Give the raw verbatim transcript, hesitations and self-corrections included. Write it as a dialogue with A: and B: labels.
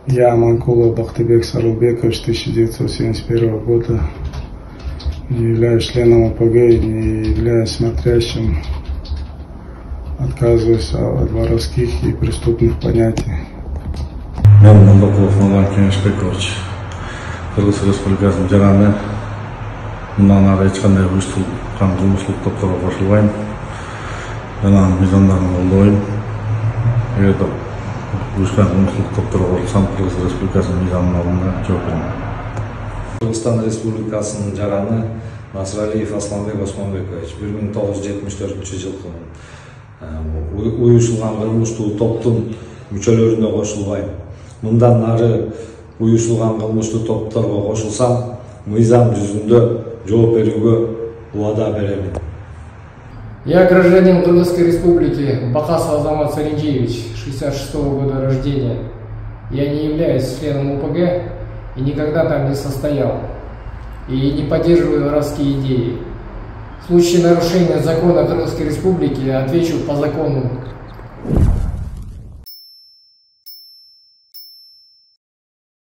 A: Я, Манкулов Бахтыбек Сарылбекович, тысяча девятьсот семьдесят первого года, не являюсь членом ОПГ и не являюсь смотрящим, отказываюсь от воровских и преступных понятий.
B: Мен Мандакулов Нурлан Кеңешбекович, Кыргыз Республикасынын жараны, мындан ары эч кандай уюштурулган кылмыштык топторго кошулбайм. Жана мыйзамдарын колдойм. Эгерде уюшкан кылмыштык топторго кошулсам, Кыргыз Республикасынын мыйзамына алганда жооп берем.
C: Кыргызстан Республикасынын жараны Насыралиев Асланбек Осмонбекович, бир миң тогуз жүз жетимиш төртүнчү жылкы уюшулган кылмыштуу топтун мүчөлөрүнө кошулбайм. Мындан ары уюшулган кылмыштуу топторго кошулсам, мыйзам жүзүндө жооп берүүгө убада беремин.
D: Я гражданин Кыргызской Республики Бакасов Азамат Саринджиевич, шестьдесят шестого года рождения. Я не являюсь членом ОПГ и никогда там не состоял. И не поддерживаю воровские идеи. В случае нарушения закона Кыргызской Республики отвечу по закону.